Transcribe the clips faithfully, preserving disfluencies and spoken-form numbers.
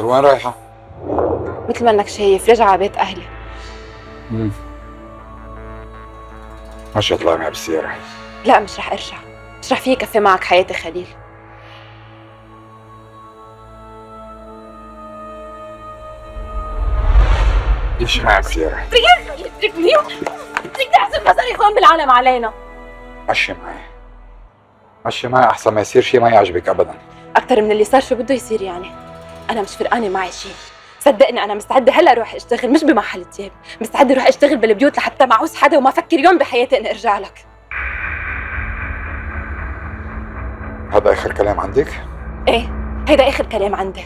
وين رايحة؟ مثل ما انك شايف رجع على بيت اهلي. امم ماشي اطلعي معي بالسيارة. لا مش رح ارجع، مش رح في كفي معك حياتي خليل. ليش معي بالسيارة؟ اتركني بدك تحسب مصاري اخوان بالعالم علينا. مشي معي مشي معي احسن ما يصير شيء ما يعجبك ابدا. اكثر من اللي صار شو بده يصير يعني؟ انا مش فرقانه معي شيء، صدقني انا مستعده هلا اروح اشتغل مش بمحل تياب، مستعده اروح اشتغل بالبيوت لحتى ما اعوز حدا وما افكر يوم بحياتي اني ارجع لك. هذا اخر كلام عندك؟ ايه هيدا اخر كلام عندي.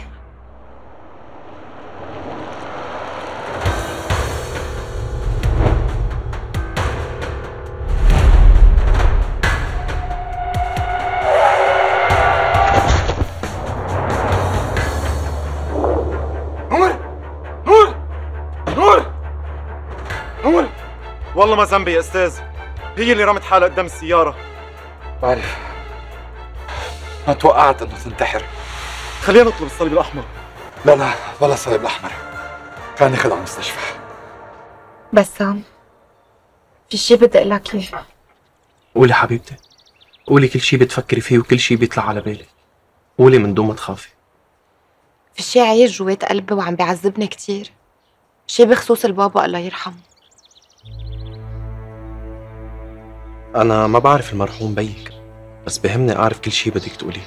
والله ما ذنبي يا استاذ، هي اللي رمت حالها قدام السيارة. بعرف، ما توقعت انه تنتحر. خلينا نطلب الصليب الأحمر. لا لا ولا الصليب الأحمر، كان ياخذ على المستشفى. بسام في شي بدي اقول لك اياه. قولي حبيبتي، قولي كل شي بتفكري فيه وكل شي بيطلع على بالك، قولي من دون ما تخافي. في شي عايش جوات قلبي وعم بيعذبني كتير، شي بخصوص البابا الله يرحمه. أنا ما بعرف المرحوم بيك، بس بهمني أعرف كل شي بدك تقوليه.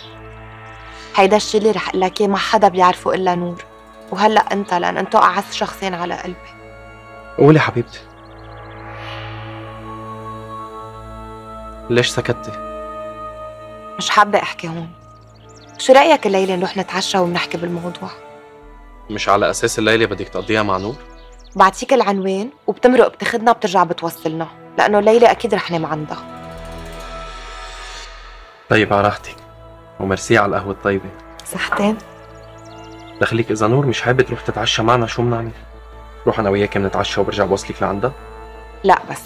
هيدا الشي اللي رح اقول لك اياه ما حدا بيعرفه إلا نور، وهلأ أنت لأن أنتو أعز شخصين على قلبي. قولي حبيبتي. ليش سكتي؟ مش حابة أحكي هون. شو رأيك الليلة نروح نتعشى ونحكي بالموضوع؟ مش على أساس الليلة بدك تقضيها مع نور؟ بعطيك العنوان وبتمرق بتاخدنا بترجع بتوصلنا، لأنه الليلة أكيد رح نام عندها. طيب على راحتك، وميرسي على القهوة الطيبة. صحتين. دخليك إذا نور مش حابة تروح تتعشى معنا شو بنعمل؟ روح أنا وياك بنتعشى وبرجع بوصلك لعندها؟ لا بس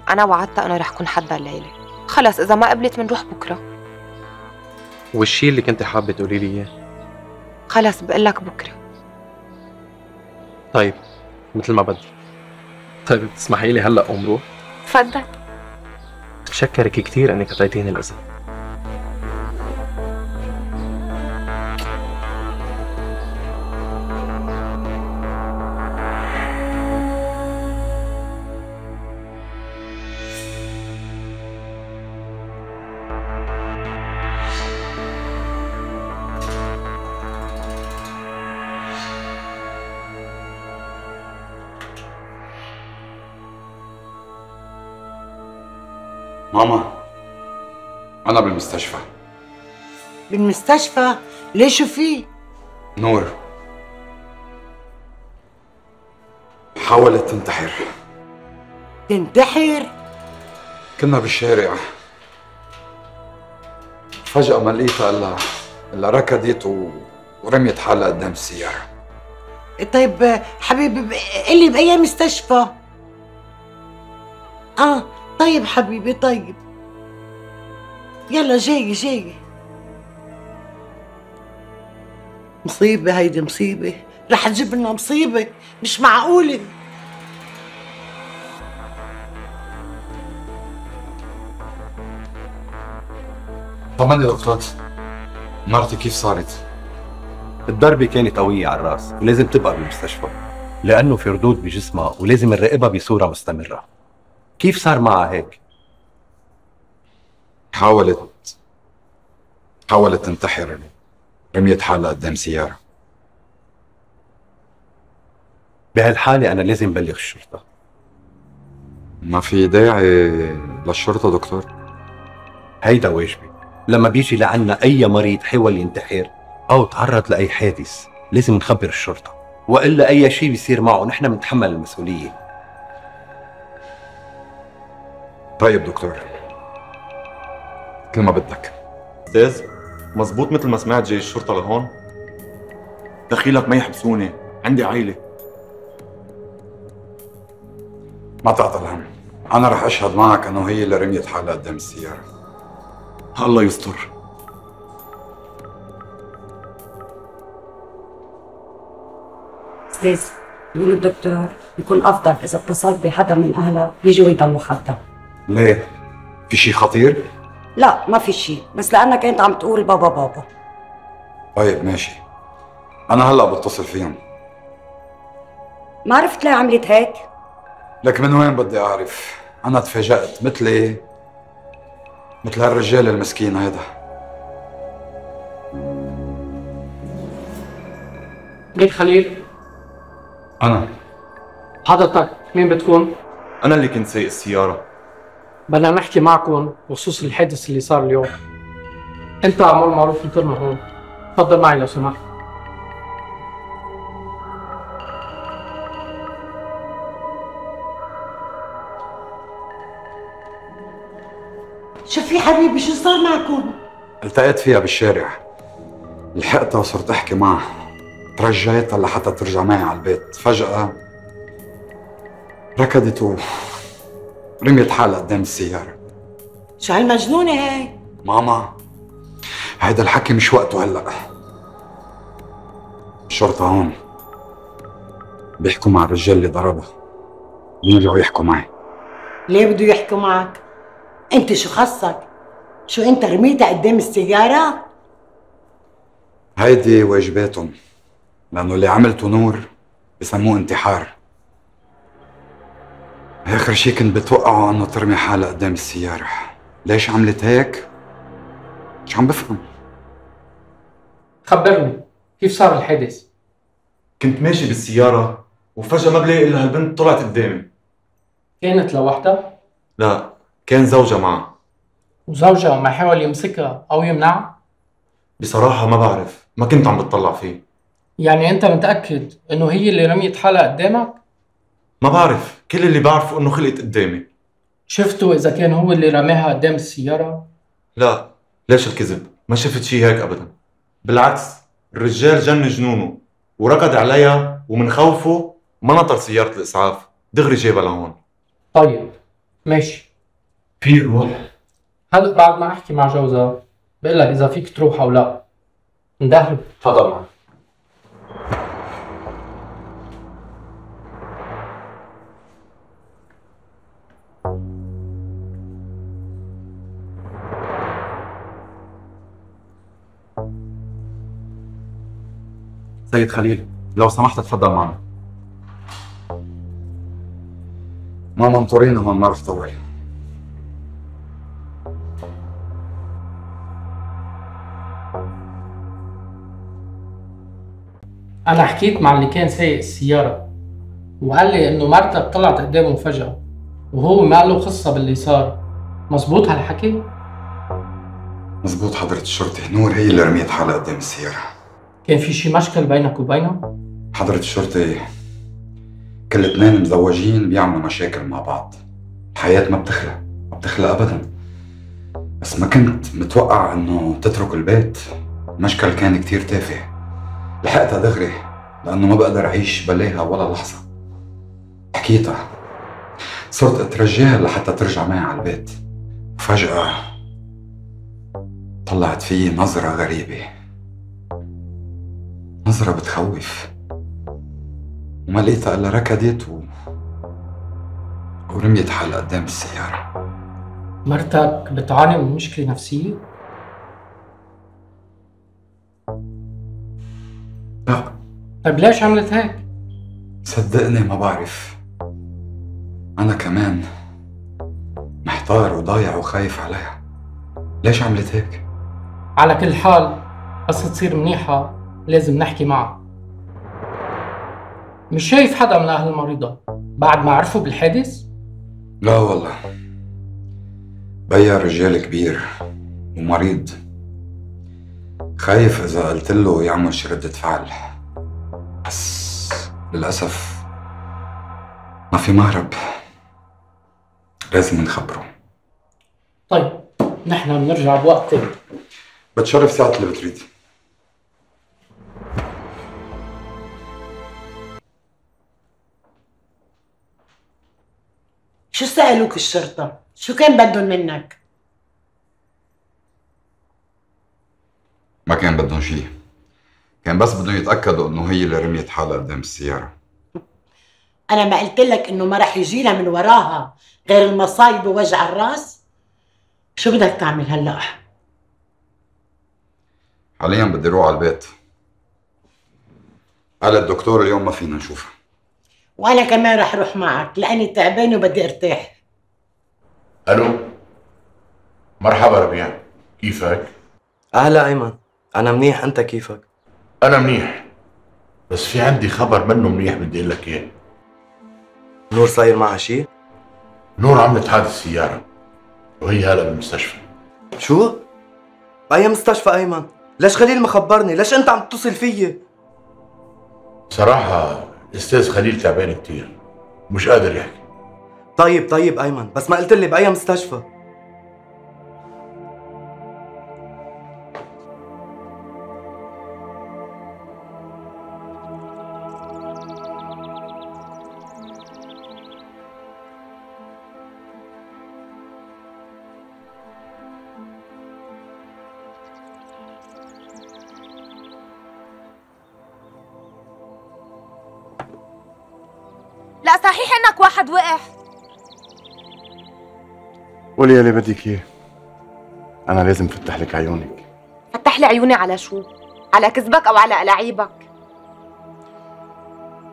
أنا وعدتها أنه رح كون حدها الليلة، خلص إذا ما قبلت بنروح بكرة. والشي اللي كنت حابة تقولي لي إياه؟ خلص بقلك بكرة. طيب مثل ما بدك. طيب بتسمحي لي هلا قوم روح؟ تفضل. بتشكرك كثير انك اعطيتيني الاذن. ماما أنا بالمستشفى. بالمستشفى؟ ليش شو في؟ نور حاولت تنتحر. تنتحر؟ كنا بالشارع فجأة ما لقيتها إلا إلا ركضت و... ورميت حالها قدام السيارة. طيب حبيبي قلي بأي مستشفى؟ آه طيب حبيبي طيب، يلا جاي جاي. مصيبة هيدي مصيبة، رح تجيب لنا مصيبة، مش معقولة. طمني دكتور، مرتي كيف صارت؟ الضربة كانت قوية على الراس ولازم تبقى بالمستشفى لأنه في ردود بجسمها ولازم نراقبها بصورة مستمرة. كيف صار معها هيك؟ حاولت حاولت تنتحر، رميت حالها قدام سيارة. بهالحالة أنا لازم بلغ الشرطة. ما في داعي للشرطة دكتور. هيدا واجبي، لما بيجي لعنا أي مريض حاول ينتحر أو تعرض لأي حادث لازم نخبر الشرطة، وإلا أي شيء بيصير معه نحن بنتحمل المسؤولية. طيب دكتور، كل ما بدك. استاذ مزبوط مثل ما سمعت جاي الشرطة لهون؟ دخيلك ما يحبسوني، عندي عائلة. ما تعطل هم، أنا رح أشهد معك أنه هي اللي رميت حالها قدام السيارة. الله يستر. استاذ، بيقول الدكتور بيكون افضل اذا اتصلت بحدا من اهلها يجوا يضلوا حدها. ليه؟ في شي خطير؟ لا ما في شيء، بس لانك انت عم تقول بابا بابا. طيب ماشي، أنا هلأ بتصل فيهم. ما عرفت ليه عملت هيك؟ لك من وين بدي أعرف؟ أنا تفاجأت مثلي مثل هالرجال المسكين هيدا. مين خليل؟ أنا. حضرتك مين بتكون؟ انا اللي كنت سايق السياره. بدنا نحكي معكم بخصوص الحادث اللي صار اليوم. انت عمول معروف انطرنا هون. تفضل معي لو سمحت. شو في حبيبي، شو صار معكم؟ التقيت فيها بالشارع، لحقتها وصرت أحكي معها، ترجيتها لحتى ترجع معي على البيت. فجأة ركضت ورميت حالها قدام السيارة. شو هالمجنونة هاي؟ ماما هيدا الحكي مش وقته هلأ. الشرطة هون بيحكوا مع الرجال اللي ضربها، بيرجعوا يحكوا معي. ليه بده يحكوا معك؟ انت شو خصك؟ شو انت رميتها قدام السيارة؟ هيدي واجباتهم، لأنه اللي عملته نور بسموه انتحار. آخر شي كنت بتوقعه إنه ترمي حالها قدام السيارة. ليش عملت هيك؟ مش عم بفهم. خبرني كيف صار الحادث؟ كنت ماشي بالسياره وفجاه ما بلاقي الا هالبنت طلعت قدامي. كانت لوحدها؟ لا، كان زوجها معها. وزوجها ما حاول يمسكها او يمنعها؟ بصراحه ما بعرف، ما كنت عم بتطلع فيه. يعني انت متاكد انه هي اللي رميت حالها قدامك؟ ما بعرف، كل اللي بعرفه انه خلقت قدامي. شفته اذا كان هو اللي رماها قدام السياره؟ لا، ليش الكذب؟ ما شفت شي هيك ابدا. بالعكس، الرجال جن جنونه وركض عليها ومن خوفه ما نطر سياره الاسعاف، دغري جابها لهون. طيب ماشي، في روح. هلا بعد ما احكي مع جوزها بقول لك اذا فيك تروح او لا. اندهله. تفضل معي. سيد خليل، لو سمحت تفضل معنا. ماما انطرينا هون، ما رح طول. انا حكيت مع اللي كان سايق السياره وقال لي انه مرتك طلعت قدامه فجاه وهو ما له قصه باللي صار. مزبوط هالحكي؟ مزبوط حضرة الشرطة، نور هي اللي رميت حالها قدام السيارة. كان في شي مشكل بينك وبينها؟ حضرة الشرطة كل اثنين مزوجين بيعملوا مشاكل مع بعض. الحياة ما بتخلى، ما بتخلى أبدا. بس ما كنت متوقع إنه تترك البيت. المشكل كان كتير تافه. لحقتها دغري لأنه ما بقدر أعيش بلاها ولا لحظة. حكيتها، صرت أترجاها لحتى ترجع معي على البيت. وفجأة طلعت فيي نظرة غريبة، نظرة بتخوف، وما لقيتها إلا ركضت و... ورميت حالها قدام السيارة. مرتك بتعاني من مشكله نفسيه؟ لا. طيب ليش عملت هيك؟ صدقني ما بعرف. أنا كمان محتار وضايع وخايف عليها. ليش عملت هيك؟ على كل حال بس تصير منيحة لازم نحكي معها. مش شايف حدا من أهل المريضة بعد ما عرفوا بالحادث؟ لا والله، بيا رجال كبير ومريض، خايف إذا قلت له يعمل شي ردة فعل. بس للأسف ما في مهرب، لازم نخبره. طيب نحن بنرجع بوقت تاني. بتشرف ساعة اللي بتريد. شو سألوك الشرطة؟ شو كان بدهم منك؟ ما كان بدهم شي، كان بس بدهم يتأكدوا إنه هي اللي رميت حالها قدام السيارة. انا ما قلت لك انه ما رح يجي لها من وراها غير المصايب ووجع الراس؟ شو بدك تعمل هلا؟ حاليا بدي اروح على البيت. قال الدكتور اليوم ما فينا نشوفها. وانا كمان رح اروح معك لاني تعبانه وبدي ارتاح. الو، مرحبا ربيع، كيفك؟ اهلا ايمن، انا منيح، انت كيفك؟ انا منيح، بس في عندي خبر منه منيح بدي اقول لك اياه. نور صاير معها شيء؟ نور عملت حادث سيارة وهي هلا بالمستشفى. شو؟ بأي مستشفى ايمن؟ ليش خليل ما خبرني؟ ليش انت عم تتصل فيي؟ صراحة الاستاذ خليل تعبان كتير، مش قادر يحكي. طيب طيب ايمن، بس ما قلت لي بأي مستشفى؟ لا صحيح انك واحد وقع. قولي يلي بدك اياه، انا لازم فتح لك عيونك. فتح لي عيوني على شو؟ على كذبك او على ألاعيبك؟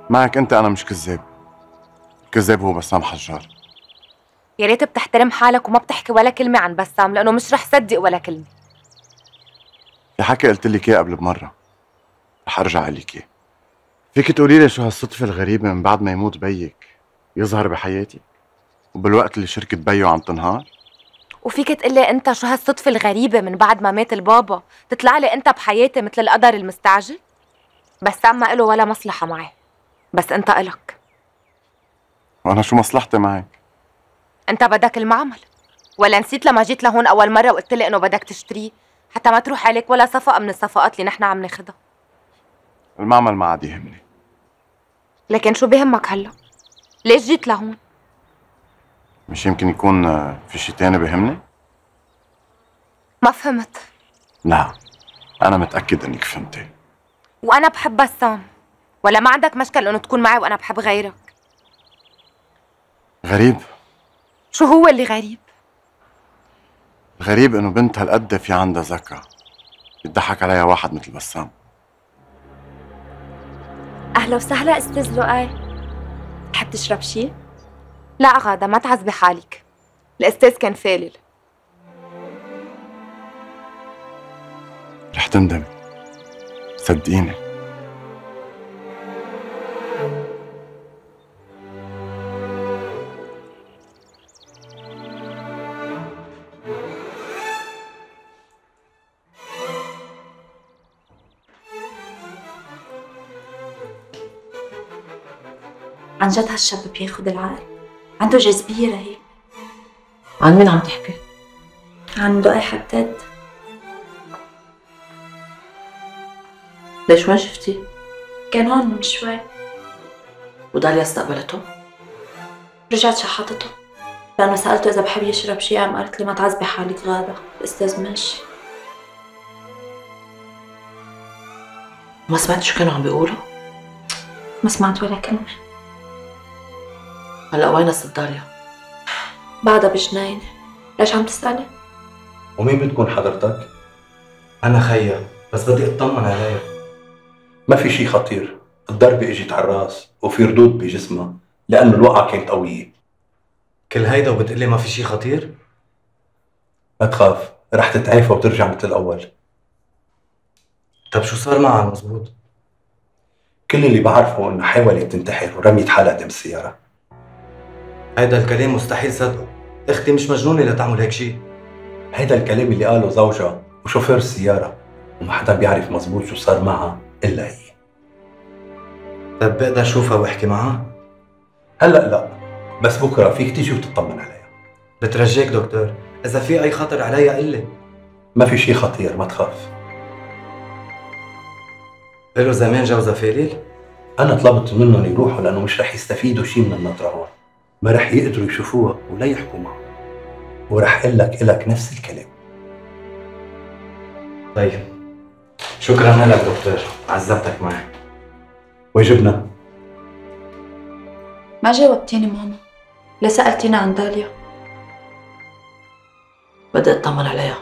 معك انت انا مش كذاب، كذاب هو بسام حجار. يا ريت بتحترم حالك وما بتحكي ولا كلمة عن بسام، لأنه مش رح صدق ولا كلمة. في حكي قلت لك اياه قبل بمرة، رح ارجع اقول لك اياه. فيك تقولي لي شو هالصدفة الغريبة من بعد ما يموت بيك يظهر بحياتي وبالوقت اللي شركة بيو عم تنهار؟ وفيك تقلي انت شو هالصدفة الغريبة من بعد ما مات البابا تطلع لي انت بحياتي مثل القدر المستعجل؟ بسام ما له ولا مصلحة معي، بس انت إلك. وانا شو مصلحتي معك؟ انت بدك المعمل، ولا نسيت لما جيت لهون اول مرة وقلت لي انه بدك تشتريه حتى ما تروح عليك ولا صفقة من الصفقات اللي نحن عم ناخدها؟ المعمل ما عاد يهمني. لكن شو بيهمك هلا؟ ليش جيت لهون؟ مش يمكن يكون في شي تاني بيهمني؟ ما فهمت. لا، أنا متأكد إنك فهمتي. وأنا بحب بسام، ولا ما عندك مشكل إنه تكون معي وأنا بحب غيرك؟ غريب. شو هو اللي غريب؟ غريب إنه بنت هالقد في عندها ذكاء يضحك عليها واحد مثل بسام. أهلا وسهلا أستاذ لؤي، تحب تشرب شي؟ لا غادة، ما تعذبي حالك، الأستاذ كان فالل. رح تندمي، صدقيني. عن جد هالشاب بياخد العقل، عنده جاذبية رهيبة. عن مين عم تحكي؟ عن لؤي حداد. ليش وين شفتيه؟ كان هون من شوي. وداليا استقبلته؟ رجعت شحطته لأنه سألته إذا بحب يشرب شي، قام قالت لي ما تعذبي حالك غادة، الأستاذ ماشي. ما سمعت شو كانوا عم بيقولوا؟ ما سمعت ولا كلمة. هلا وين ست داليا؟ بعدها بجناينة. ليش عم تسألي؟ ومين بتكون حضرتك؟ أنا خيا، بس بدي أطمن عليها. ما في شي خطير، الضربة اجت على الراس وفي ردود بجسمها لأنه الوقعة كانت قوية. كل هيدا وبتقلي ما في شي خطير؟ ما تخاف، رح تتعافى وترجع مثل الأول. طب شو صار معها مزبوط؟ كل اللي بعرفه إنه حاولت تنتحر ورميت حالها قدام السيارة. هيدا الكلام مستحيل صدقه، اختي مش مجنونة لتعمل هيك شيء. هيدا الكلام اللي قاله زوجها وشوفير السيارة، وما حدا بيعرف مزبوط شو صار معها إلا هي. طب بقدر اشوفها واحكي معها؟ هلا لا، بس بكره فيك تيجي وتطمن عليها. بترجاك دكتور، إذا في أي خطر عليها قل لي. ما في شيء خطير، ما تخاف. له زمان جوزها فالل؟ أنا طلبت منهم يروحوا لأنه مش رح يستفيدوا شيء من النطرة هون، ما رح يقدروا يشوفوها ولا يحكوا معها، ورح قل لك إلك نفس الكلام. طيب شكرا لك دكتور، عذبتك معي. واجبنا. ما جاوبتيني ماما، ليه سألتيني عن داليا؟ بدي اطمن عليها،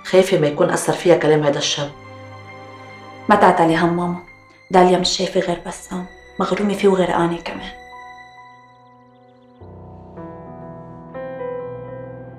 خايفة ما يكون أثر فيها كلام هيدا الشاب. ما تعتلي هم ماما، داليا مش شايفة غير بسام، مغرومة فيه وغرقانة كمان.